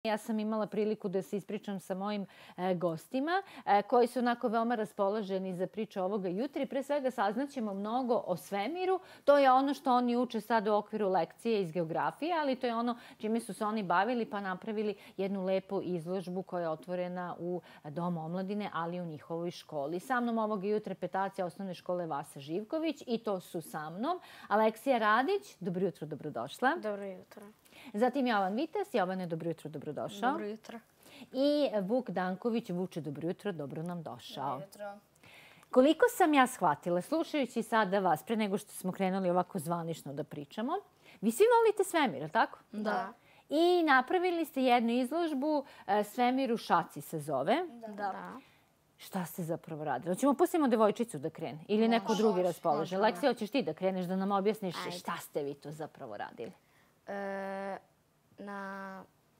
Ja sam imala priliku da se ispričam sa mojim gostima koji su onako veoma raspoloženi za priču ovoga jutra i pre svega saznaćemo mnogo o svemiru. To je ono što oni uče sad u okviru lekcije iz geografije, ali to je ono čime su se oni bavili pa napravili jednu lepu izložbu koja je otvorena u Domu omladine, ali i u njihovoj školi. Sa mnom ovoga jutra petacija osnovne škole Vasa Živković i to su sa mnom Aleksija Radić. Dobro jutro, dobrodošla. Dobro jutro. Zatim Jovan Vitas. Jovane, dobro jutro, dobrodošao. Dobro jutro. I Vuk Danković. Vuče, dobro jutro, dobro nam došao. Dobro jutro. Koliko sam ja shvatila, slušajući sada vas, pre nego što smo krenuli ovako zvanično da pričamo, vi svi volite svemir, ali tako? Da. I napravili ste jednu izložbu Svemir u šaci se zove. Da. Šta ste zapravo radili? Hoćemo pustimo devojčicu da krene ili neko drugi raspolože. Aleksija, hoćeš ti da kreneš da nam objasniš šta ste vi to zapravo radili?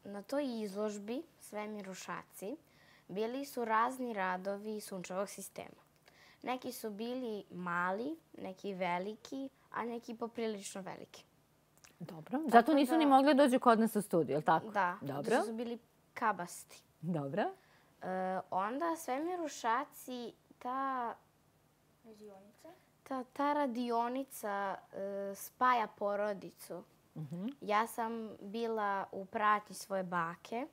Na toj izložbi Svemir u šaci bili su razni radovi sunčevog sistema. Neki su bili mali, neki veliki, a neki poprilično veliki. Dobro. Zato nisu ni mogli dođu kod nas u studiju, je li tako? Da. Dobro. Da su bili kabasti. Dobro. Onda Svemir u šaci, ta radionica spaja porodicu. Ja sam bila u pratnji svoje bake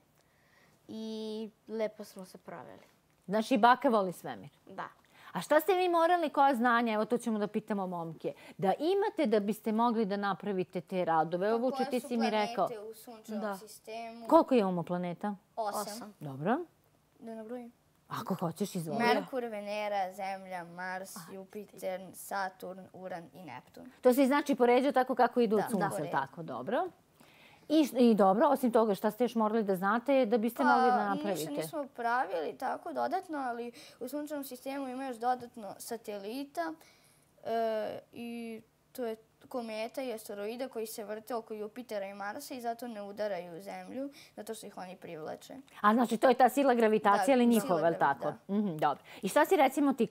i lepo smo se proveli. Znači, baka voli svemir. Da. A šta ste vi morali, koja znanja, evo to ćemo da pitamo momke, da imate da biste mogli da napravite te radove? Evo, Vuče, ti si mi rekao. Koje su planete u sunčevom sistemu? Koliko imamo planeta? 8. Dobro. Da nabrojim. Ako hoćeš, izvoli. Merkur, Venera, Zemlja, Mars, Jupiter, Saturn, Uran i Neptun. To se znači poređao tako kako idu od sunca, da. tako, dobro. I dobro, osim toga, šta ste još morali da znate da biste mogli da napravite? Ništa nismo pravili tako dodatno, ali u sunčevom sistemu ima još dodatno satelita i to je kometa i asteroida koji se vrte oko Jupitera i Marsa i zato ne udaraju Zemlju, zato što ih oni privlače. A znači to je ta sila gravitacije, ali Da, njihova, je li sila tako? Dobro. I šta si recimo ti,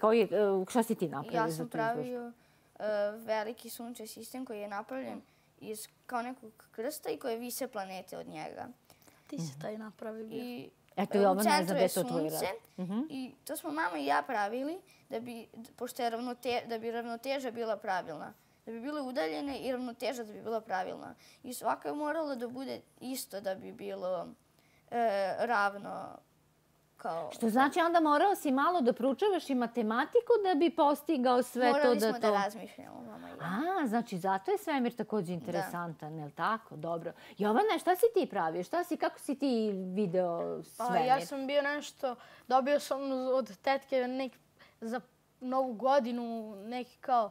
šta si ti napravio Ja za sam tu izložbu? pravio veliki sunčev sistem koji je napravljen iz kao nekog krsta i koje vise planete od njega. Ti si taj napravio. I Eto, u Jovan ne zna centru gde je je to tvoj rad. sunce i to smo mama i ja pravili pošto je da bi ravnoteža bila pravilna. Da bi bile udaljene i ravnoteža da bi bila pravilna. I svaka je morala da bude isto da bi bilo ravno kao... Što znači onda morao si malo da proučavaš i matematiku da bi postigao sve to da to... Morali smo da razmišljamo, mama i ja. Znači zato je svemir također interesantan, je li tako? Dobro. Jovana, šta si ti pravio? Kako si ti video svemir? Ja sam bio nešto, dobio sam od tetke za novu godinu neki kao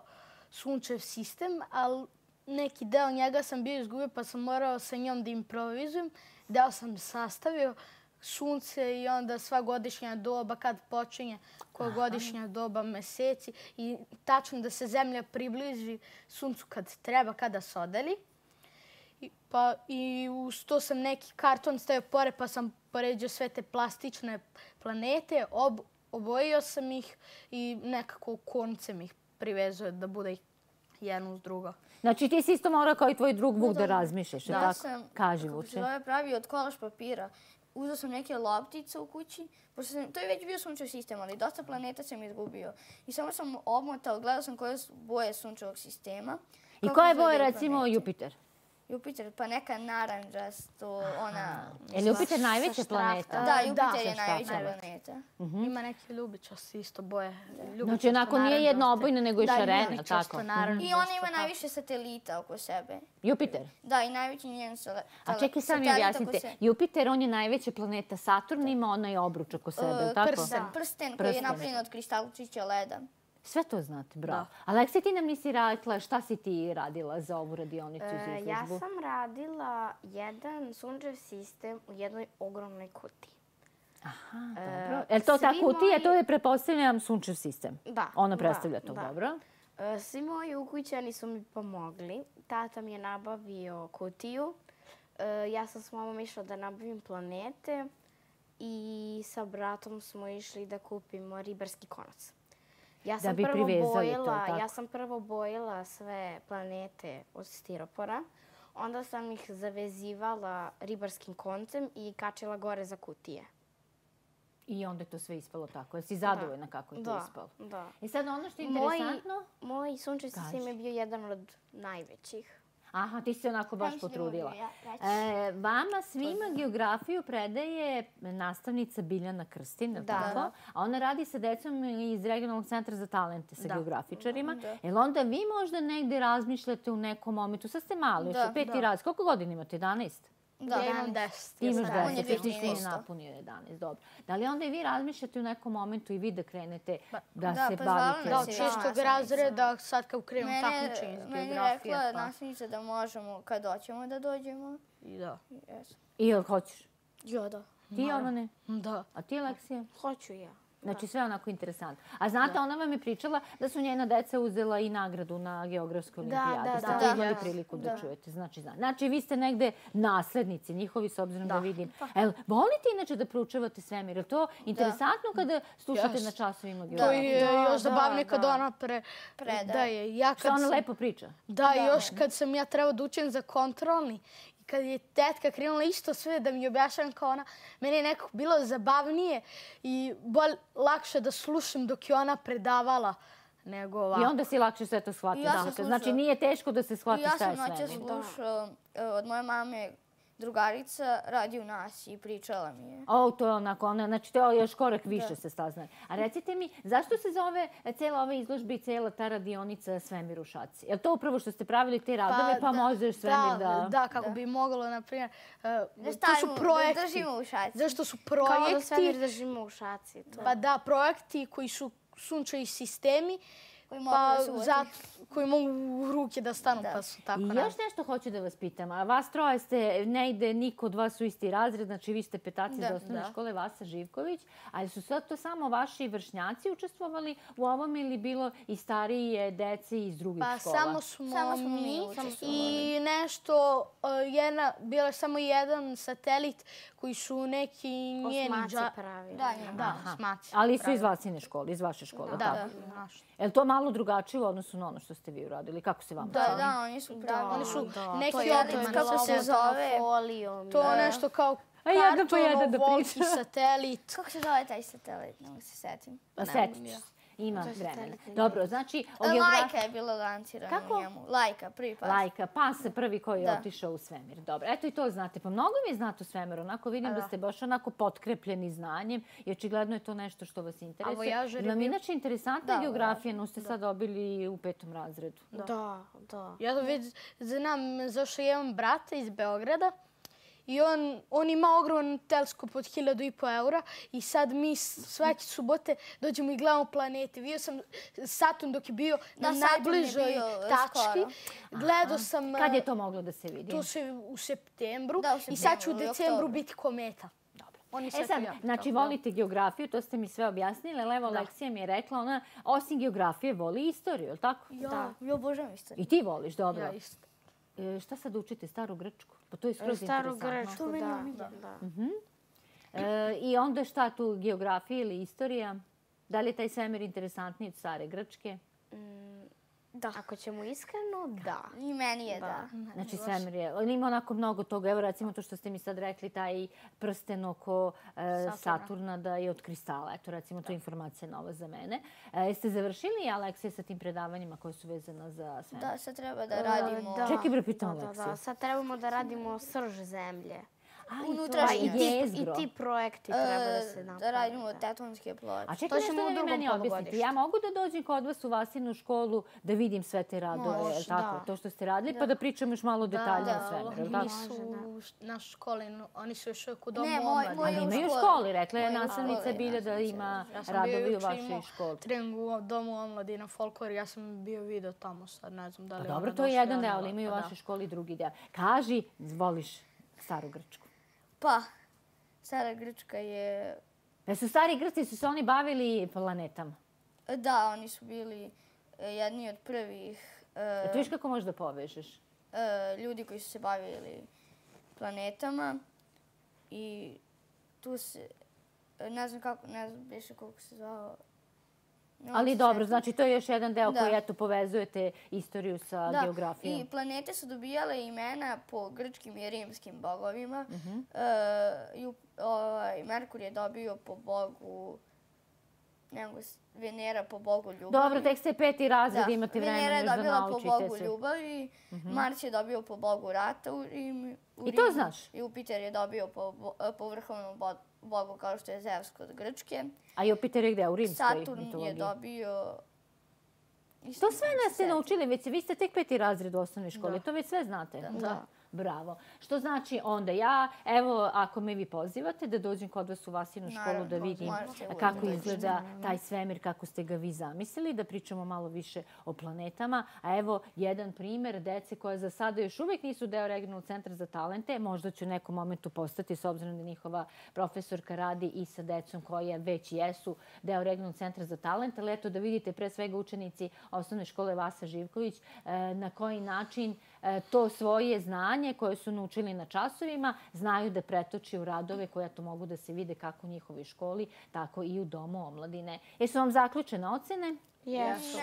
sunčev sistem, ali neki deo njega sam bio izgubio pa sam morao sa njom da improvizujem. Deo sam sastavio sunce i onda sva godišnja doba, kad počinje koja godišnja doba, meseci i tačno da se zemlja približi suncu kad treba, kada se odalji. I uz to sam neki karton stavio pored pa sam poređao sve te plastične planete, obojio sam ih i nekako koncem ih privezao da bude jedno uz drugo. Znači ti si isto morao kao i tvoj drug Vuk da razmišljaš, je Ja tako? sam, Kaži, kako Vuče. se zove, pravio od kolaž papira. Uzeo sam neke loptice u kući, to je već bio sunčev sistem, ali dosta planeta sam izgubio. I samo sam obmotao, gledao sam koje su boje sunčevog sistema. I koja je boja recimo Jupiter? Jupiter, pa neka naranđasto, ona... Je li Jupiter najveća planeta? Da, Jupiter je najveća planeta. Ima neke ljubičasti isto boje. Znači onako nije jednoobojna nego i šarena, tako? I ona ima najviše satelita oko sebe. Jupiter? Da, i najveći njen satelit. A čekaj sad mi objasnite. Jupiter, on je najveća planeta. Saturn ima onaj obruč oko sebe, tako? Prsten koji je napravljen od kristalčića leda. Sve to znate, bravo. Aleksija, ti nam nisi rekla šta si ti radila za ovu radionicu za izložbu? Ja sam radila jedan sunčev sistem u jednoj ogromnoj kutiji. Aha, dobro. Je li to ta kutija? To je, pretpostavljam, sunčev sistem. Da. Ona predstavlja to, dobro. Svi moji ukućani su mi pomogli. Tata mi je nabavio kutiju. Ja sam s mamom išla da nabavim planete i sa bratom smo išli da kupimo ribarski konac. Ja sam prvo bojila sve planete od stiropora. Onda sam ih zavezivala ribarskim koncem i kačila gore za kutije. I onda je to sve ispalo tako. Jesi zadovoljna kako je to ispalo? Da. I sad ono što je interesantno... Moj sunčev sistem je bio jedan od najvećih. Aha, ti si onako baš potrudila. Vama svima geografiju predaje nastavnica Biljana Krstin, tako? A ona radi sa decom iz Regionalnog centra za talente, sa geografičarima. Jel onda vi možda negde razmišljate u nekom momentu? Sad ste mali, još 5. razred. Koliko godina imate? 11? Da, ja imam 10. Ti imaš 10, On je ti si 2013. napunio 11, dobro. Da li onda i vi razmišljate u nekom momentu i vi da krenete da da, se pa bavite? zvala Da, nas od je šestog razreda sad kad krenemo takmičenje iz Meni je geografije. rekla nastavnica da možemo kad hoćemo da dođemo. I da. I jel hoćeš? Ja, da. Ti, Jovane? Da. A ti, Aleksija? Hoću ja. Znači sve onako interesantno. A znate, ona vam je pričala da su njena deca uzela i nagradu na geografskoj olimpijadi. Ste to imali priliku da čujete. Znači, vi ste negde naslednici njihovi, s obzirom da vidim. Volite inače da proučavate svemir? Je to interesantno kada slušate na časovima To geografije? je još zabavnije kad ona predaje. Što ona lepo priča? Da, još kad sam ja trebao da učim za kontrolni, kad je tetka krenula isto sve da mi objašnjam kao ona, meni je nekako bilo zabavnije i lakše da slušam dok je ona predavala nego ovako. I onda si lakše sve to shvatiti. Znači nije teško da se shvati šta je Ja sam noća svemir. slušao od moje mame drugarica, radi u nas i pričala mi je. To je onako, znači to je još korak više se saznaje. A recite mi, zašto se zove cijela ova izložba i cijela ta radionica Svemir u šaci? Je li to upravo što ste pravili te radove pa možeš svemir da... Da, kako bi moglo, na primjer, to su Da projekti. držimo u šaci. Zašto su Kao da svemir projekti? držimo u šaci. Pa da, projekti koji su sunčevi sistemi, koji mogu u ruke da stanu, pa su tako I još nešto hoću da vas pitam. A vas troje ste, ne ide niko od vas u isti razred, znači vi ste petaci iz osnovne škole Vasa Živković, ali su sad to samo vaši vršnjaci učestvovali u ovom ili bilo i starije dece iz drugih škola? Pa samo smo mi učestvovali. i nešto, bio je samo jedan satelit koji su neki njeni... Osmaci pravili. Da, osmaci. Ali su iz Vasine škole, iz vaše škole, tako? Je li to malo drugačije u odnosu na ono što ste vi uradili? Kako se vama čini? Da, oni su pravili. Oni su neki je kako se zove. To nešto kao jedan po jedan da kartonovolki pričam. satelit. Kako se zove taj satelit? Ne mogu se setim. Setit ću se. Ima vremena. Dobro, znači... Lajka je bila lancirana u njemu. Lajka, prvi pas. Lajka, pas prvi koji je otišao u svemir. Dobro, eto i to znate. Pa mnogo mi znate o svemiru. Onako vidim da ste baš onako potkrepljeni znanjem i očigledno je to nešto što vas interesuje. Nam inače interesantna geografija, no ste sad dobili u 5. razredu. Da. Ja već znam, zašto imam brata iz Beograda i on ima ogroman teleskop od 1.500 eura i sad mi svake subote dođemo i gledamo planete. Vidio sam Saturn dok je bio na najbližoj tački. Gledao sam... Kad je to moglo da se vidi? To se u septembru i sad će u decembru biti kometa. Sad, znači volite geografiju, to ste mi sve objasnili, ali evo Aleksija mi je rekla, ona osim geografije voli istoriju, je li tako? Ja obožavam istoriju. I ti voliš, dobro. Ja isto. Šta sad učite? Staru Grčku? Pa to je skroz Staru interesantno. Grčku, da. I onda šta tu, geografija ili istorija? Da li je taj svemir interesantniji od Stare Grčke? Da. Ako ćemo iskreno, da. I meni je da. Znači svemir je, ali ima onako mnogo toga. Evo recimo to što ste mi sad rekli, taj prsten oko Saturna da je od kristala. Eto recimo to je informacija nova za mene. Jeste završili, Aleksija, sa tim predavanjima koje su vezana za svemir? Da, sad treba da radimo... Čekaj bre, pitam Aleksiju. Da, sad trebamo da radimo srž zemlje. Unutrašnji I ti projekti treba da se naprave. Da radimo tektonske ploče. A čekaj nešto da vi meni objasnite. Ja mogu da dođem kod vas u Vasinu školu da vidim sve te radove, je li tako? To što ste radili, pa da pričamo još malo detaljnije o svemiru, je li tako? Nisu u našoj školi, oni su još uvijek u domu omladine. Ali imaju u školi, rekla je nastavnica Bilja da ima radovi u vašoj školi. Trening u domu omladina, folklor, ja sam bio video tamo sad, ne znam da li je ona došla. Dobro, to je jedan deo, ali imaju u vašoj školi drugi deo. Kaži, voliš Staru Grčku? Pa, Stara Grčka je... Su stari Grci, su se oni bavili planetama? Da, oni su bili jedni od prvih... Ti viš kako možeš da povežeš? Ljudi koji su se bavili planetama i tu se... Ne znam više kako se zvao... Ali dobro, znači to je još jedan deo koji, eto, povezujete istoriju sa geografijom. I planete su dobijale imena po grčkim i rimskim bogovima. Merkur je dobio po bogu, Venera po bogu ljubavi. Dobro, tek ste 5. razred, imate vremena Venera je još da dobila po naučite bogu se. ljubavi, Mars je dobio po bogu rata u Rimu. I to znaš? Jupiter je dobio po vrhovnom bogu kao što je Zeus kod Grčke. A Jupiter je gde? U rimskoj mitologiji? Saturn je dobio... To sve nas ste naučili, već vi ste tek 5. razred u osnovnoj školi, to već sve znate. Da. Bravo. Što znači onda ja, evo, ako me vi pozivate da dođem kod vas u Vasinu školu da vidim kako izgleda taj svemir, kako ste ga vi zamislili, da pričamo malo više o planetama. A evo jedan primer dece koje za sada još uvijek nisu deo Regionalnog centra za talente. Možda ću u nekom momentu postati, s obzirom da njihova profesorka radi i sa decom koje već jesu deo Regionalnog centra za talente. Ali eto da vidite pre svega učenici osnovne škole Vasa Živković na koji način to svoje znanje koje su naučili na časovima znaju da pretoči u radove koje to mogu da se vide kako u njihovoj školi, tako i u Domu omladine. Jesu vam zaključene ocene? Jesu.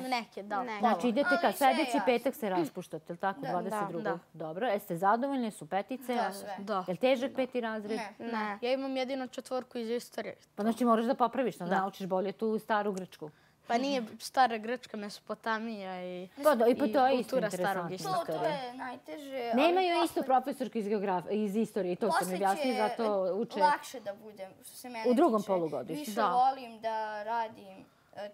Neke, da. Znači idete kad sljedeći petak se raspuštate, je li tako? 22. Dobro, jeste zadovoljni, su petice? Da, sve. Da. Je li težak 5. razred? Ne. Ja imam jedino 4 iz istorije. Pa znači moraš da popraviš, da naučiš bolje tu staru Grčku. Pa nije stara Grčka, Mesopotamija i Pa to je isto kultura starog interesantno. To je najteže. Nemaju isto profesorke iz istorije, to sam objasnili, zato uče... Lakše da budem, što se mene tiče. U drugom polugodištu. Više volim da radim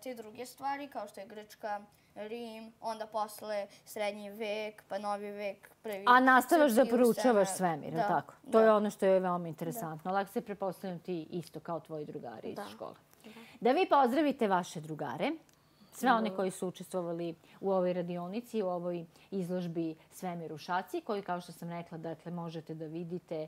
te druge stvari, kao što je Grčka, Rim, onda posle srednji vek, pa novi vek, prvi... A nastavaš da srpski poručavaš ustanak. svemir, je li tako? To je ono što je veoma interesantno. Lako se prepostavljam ti isto kao tvoji drugari iz škole. Da vi pozdravite vaše drugare, sve one koji su učestvovali u ovoj radionici, u ovoj izložbi Svemir u šaci, koju, kao što sam rekla, dakle, možete da vidite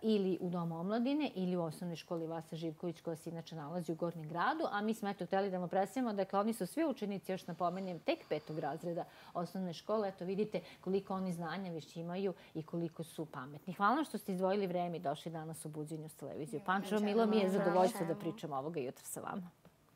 ili u Domu omladine ili u osnovnoj školi Vasa Živković koja se inače nalazi u Gornjem gradu. A mi smo eto hteli da vam predstavimo, dakle oni su svi učenici, još napomenem, tek 5. razreda osnovne škole. Eto vidite koliko oni znanja već imaju i koliko su pametni. Hvala vam što ste izdvojili vreme i došli danas u Buđenju s televiziju Pančevo. Milo mi je zadovoljstvo da pričam ovoga jutra sa vama.